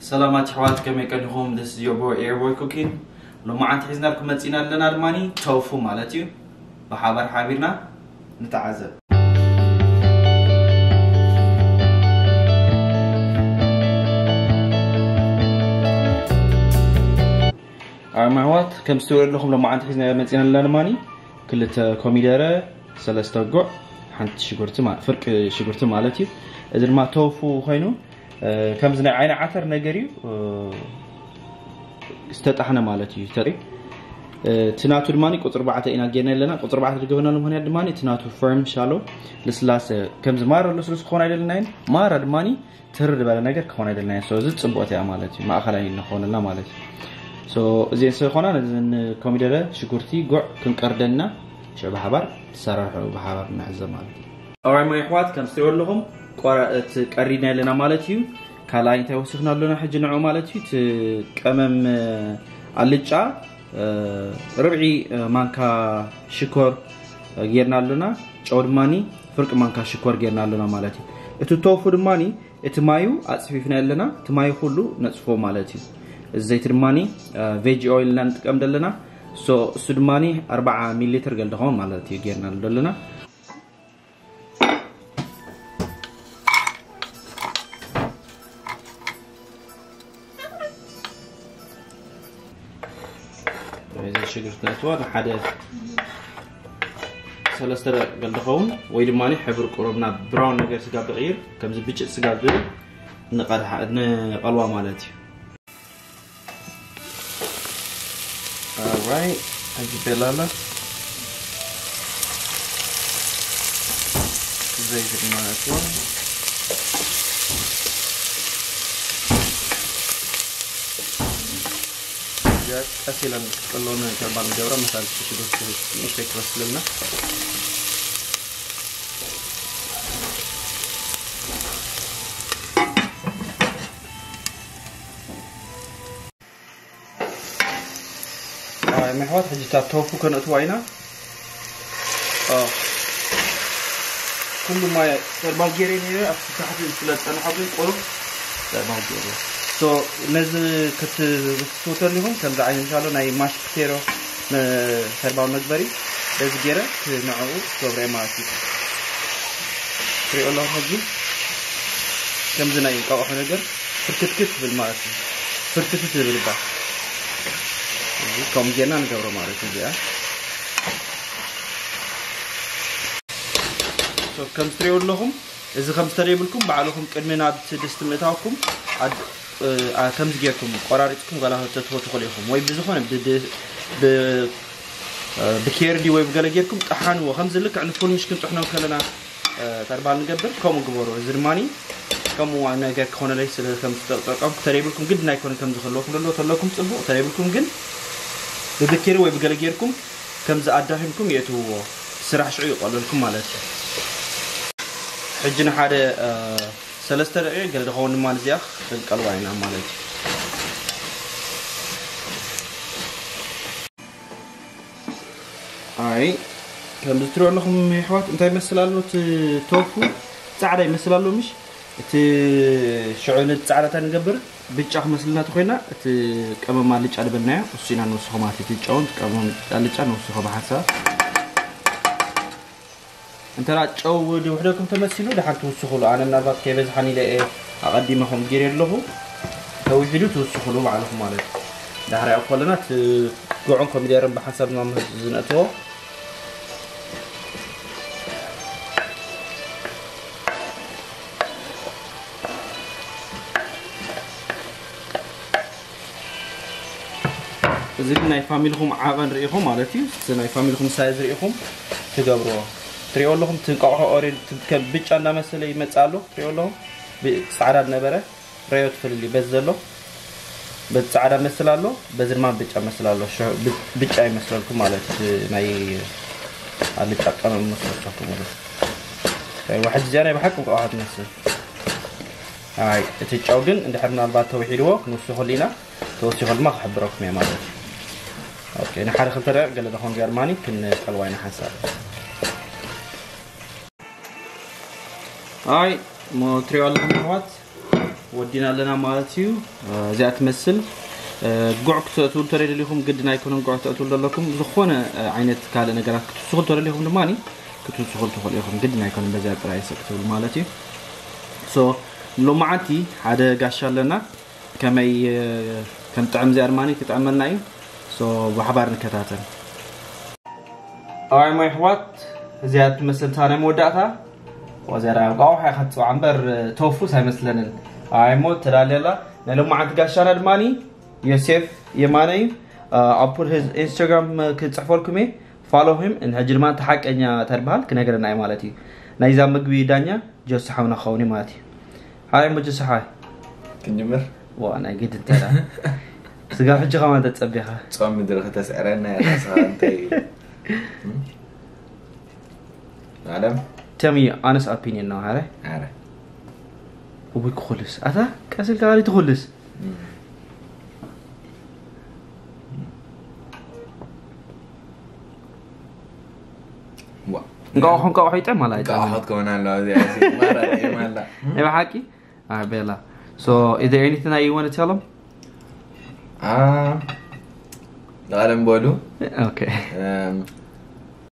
ሰላማት ኣሕዋት፣ ከመይ ቀኒኹም? This is your boy Airboy Cooking. ሎማዓንቲ ሒዝናልኩም መፂና ኣለና ድማኒ ቶፉ ማለት እዩ። ብሓባር ሓቢርና ንተዓዘብ። ኣማዋት ከም ዝትሪኡ ኣለኹም ሎማዓንቲ ሒዝና መፂና ኣለና ድማኒ ክልተ ኮሚደረ፣ ሰለስተ ጉዕ፣ ሓንቲ ሽጉርቲ ማ- ፍርቂ ሽጉርቲ ማለት እዩ። እዚ ድማ ቶፉ ኮይኑ ከምዚ ናይ ዓይኒ ዓተር ነገር እዩ ዝተጣሕነ ማለት እዩ። ተሪ እቲ ናቱ ድማ ቁፅሪ ኣርባዕተ ኢና ጌርና ኣለና። ቁፅሪ ኣርባዕተ ዝገበናሉ ምክንያት ድማ እቲ ናቱ ፈርም ሻሎ ልስላሰ ከምዚ ማራ ልስሉስ ክኾን ኣይደለናይን። ማራ ድማ ትርር ዝበለ ነገር ክኾን ኣይደለናይን። So እዚ ፅቡቅ እያ ማለት እዩ። ማእኸላይ ንኾንልና ማለት እዩ። So እዚን ስለኾና ነዚ ኮሚደረ ሽጉርቲ ጉዕ ክንቀርደና ሽዑ ብሓባር ትሰራርሑ ብሓባር ንዕዘብ ማለት እዩ። ኣዋይ ሞ ይሕዋት ከም ስትሪኦ ኣለኹም ቆራ- እቲ ቀሪድና ኣለና ማለት እዩ። ካልኣይ እንታይ ወሲኽና ኣለና ሕጂ ንዑ ማለት እዩ። እቲ ቀመም ኣልጫ ርብዒ ማንካ ሽኮር ጌርና ኣለና። ጨው ድማኒ ፍርቂ ማንካ ሽኮር ጌርና ኣለና ማለት እዩ። እቲ ቶፉ ድማኒ እቲ ማዩ ኣፅፊፍና ኣለና። እቲ ማዩ ኩሉ ነፅፎ ማለት እዩ። እዚ ዘይቲ ድማኒ ቬጂ ኦይል ኢና ንጥቀም ዘለና። So እሱ ድማኒ ኣርባዓ ሚሊ ሊትር ገል ድኸውን ማለት እዩ ጌርና ዘለና። እዚ ሽግርቲ ነእትዋ ንሓደ ሰለስተ ደቂቕ ገል ድኸውን ወይ ድማ ሕብሪ ቁሩብ ናብ ብራውን ነገር ስጋ ብቕይር ከምዚ ብጭጥ ስጋ ዝብል ንቐድሓ- ንቐልዋ ማለት እዩ። ኣራይ ሕጂ ቤላላ ዘይቲ ድማ ነእትዋ። እዚኣ ቀስ ኢለን ክትቀለውን ተባል ንገብራ መሳል ሽጉርቲ ንእሽተይ ክበስልልና። ኣይ መሕዋት ሕጂ እታ ቶፉ ከነእትዋ ኢና። ኩሉ ማይ ተርባል ጌሬ ነይረ ኣብቲ ታሕቲ ስለ ዝፀንሖ ግን ቁሩብ ተርባል ጌሬ። So ነዚ ክትፍትፉ ተሊኹም ከምዚ ዓይነት ምሻሎ ናይ ማሽ ፖቴቶ ተርባል መግበሪ በዚ ጌረ ንዕኡ ክገብረ ማለት እዩ። ትሪኦ ኣለኹም ሕጂ ከምዚ ናይ እንቋቑሖ ነገር ፍርክትክት ትብል ማለት እዩ። ፍርክትክት ትብል እባ እዚ ከም ጌና ንገብሮ ማለት እዩ። እዚኣ So ከም ትሪኦ ኣለኹም እዚ ከም ዝተደይብልኩም ባዕልኹም ቅድሚ ናብቲ ድስቲ ምእታውኩም ኣድ- እ፣ ኣ- ከምዚ ጌርኩም ቆራሪፅኩም ጋላ ተትቦ ትኽእሉ ኢኹም ወይ ብዝኾነ ብድ- ብ- እ፣ ብኬርዲ ወይ ብገለ ጌርኩም ጠሓንዎ። ከምዚ ልክዕ ንፉል ምሽ ክንጥሕኖ ከለና እ፣ ተርባል ንገብር ከምኡ ግበሩ። እዚ ድማኒ ከምኡ ነገር ክኾነለይ ስለ ከም ዝጠቀምኩ ተደይብልኩም ግድን ኣይኮነ ከም ዝኽልወኩም ደሎ ተለኩም ፅቡቅ ተደይብልኩም ግን ብብኬሪ ወይ ብገለ ጌርኩም ከም ዝኣዳኺምኩም የእትውዎ ስራሕ ሽዑ ይቆለልኩም ማለት እዩ። ሕጂ ንሓደ እ፣ ሰለስተ ደቂቕ ገለ ዝኸውን ድማ ንዚኣ ክንቀልዋ ኢና ማለት እዩ። ኣይ ከምዚ ትሪኦ ኣለኹም የሕዋት እንታይ ይመስል ኣሎ እቲ ቶፉ ፃዕዳ ይመስል ኣሎ ምሽ እቲ ሽዑ ነቲ ፃዕዳ እንታይ ንገብር ብጫ ክመስልና ተኮይና እቲ ቀመም ኣልጫ ዝበልናዮ እሱ ኢና ንወስኾ ማለት እቲ ጨውን ቀመም ኣልጫ ንወስኾ ብሓንሳብ እንተ ጨው ውሕደኩም ተመሲሉ ድሓር ትውስኹሉ ኣነ ምናልባት ከይበዝሓን ኢለ እየ ኣቐዲመ ከም ጌር ኣለኹ ተውሒዱ ትውስኹሉ ባዕልኹም ማለት ዳሕሪ ኣብ ከለና እቲ ጉዕን ኮሚደርን ብሓንሳብ ዝነእትዎ እዚ ግን ናይ ፋሚልኹም ዓቐን ርኢኹም ማለት እዩ። እቲ ናይ ፋሚልኹም ሳይዝ ርኢኹም ትገብርዎ። ትሪኦ ኣለኹም እቲ እንቋቑሖ ኦሬድ ከም ብጫ እንዳመሰለ ይመጽእ ኣሎ። ትሪኦ ኣለኹም ብ- ጻዕዳ ዝነበረ ረዮ ትፈልል እዩ። በዚ ዘሎ በዚ ጻዕዳ መስል ኣሎ፣ በዚ ድማ ብጫ መስል ኣሎ። ሸ- ብ- ብጫ ይመስለልኩም ማለት እዩ። ናይ ኣልጫ ቀመም መስለልኩም ማለት እዩ። ዋሕድ እዚኣ ናይ ብሓቂ እንቋቑሖ ትመስል። ኣይ እቲ ጨው ግን እንድሕር ምናልባት ተውሒድዎ ክንውስኸሉ ኢና። ተወሲኹ ድማ ክሕብረኩም እየ ማለት እዩ። ኦኬ ንሓደ ክልተ ደቂቕ ገለ ዝኾን ጀርማኒ ክንቀልዋ ኢና ሓንሳብ። ኣይ ሞ ትሪኦ ኣለኹም ኣሕዋት ወዲና ኣለና ማለት እዩ። እዚኣ ትመስል። ጉዕ ክተእትው እንተደሊኹም ግድን ኣይኮነን ጉዕ ክተእትው ዘለኩም። ዝኾነ ዓይነት ካልእ ነገራት ክትስኹ እንተደሊኹም ድማ ክትስኹ ትኽእሉ ኢኹም። ግድን ኣይኮነን በዚኣ ጥራይ ሰ ክትብሉ ማለት እዩ። ሶ ሎማዓንቲ ሓደ ጋሻ ኣለና። ከመይ ከም ጥዕም እዚኣ ድማ ክጥዕመልና እዩ። ሶ ብሓባር ንከታተል። ኣዋይ ሞ ኣሕዋት፣ እዚኣ ትመስል እታ ናይ መወዳእታ። ወዘራ ቋውሓ ኢኻ ትፅውዓ እምበር ቶፉስ ኣይመስለንን። ኣዋይ ሞ ተዳልያ ኣላ። ናይ ሎማዓንቲ ጋሻና ድማ ዮሴፍ የማነ እዩ። ኣብ ፑል ህዝ ኢንስታግራም ክፅሕፈልኩም እየ። ፋሎ ሂም። ሕጂ ድማ እቲ ሓቀኛ ተድበሃል ክነግረና እዩ ማለት እዩ። ናይዛ ምግቢ ዳኛ ጆሲ ሓውና ክኸውን እዩ ማለት እዩ። ሓይ ሞ ጆሲ ሓይ። ክንጅምር። ዋ ናይ ግድ እንተዳ ስጋብ ሕጂ ከማን ተፀቢኻ። ጾም ምድሪ ከተስዕረና እያ ራስኻ እንታይ እዩ? ዓለም Tell me your honest opinion now, ሓረ። ኣረ እውይ ክኹልስ ኣታ ቀስ ኢልካ ቃሊ ትኹልስ። ዋ እንቃቑሖ እንቃቑሖ ይጥዕም ኣላ ኣይጥዕምን? ቃውሖት ከሆናለሁ እዚኣ ማራ ጥዕም ኣላ ናይ ብሓቂ? ኣይ ቤላ። So is there anything that you want to tell them? Ah, ዓለም በሉ Okay. እም፣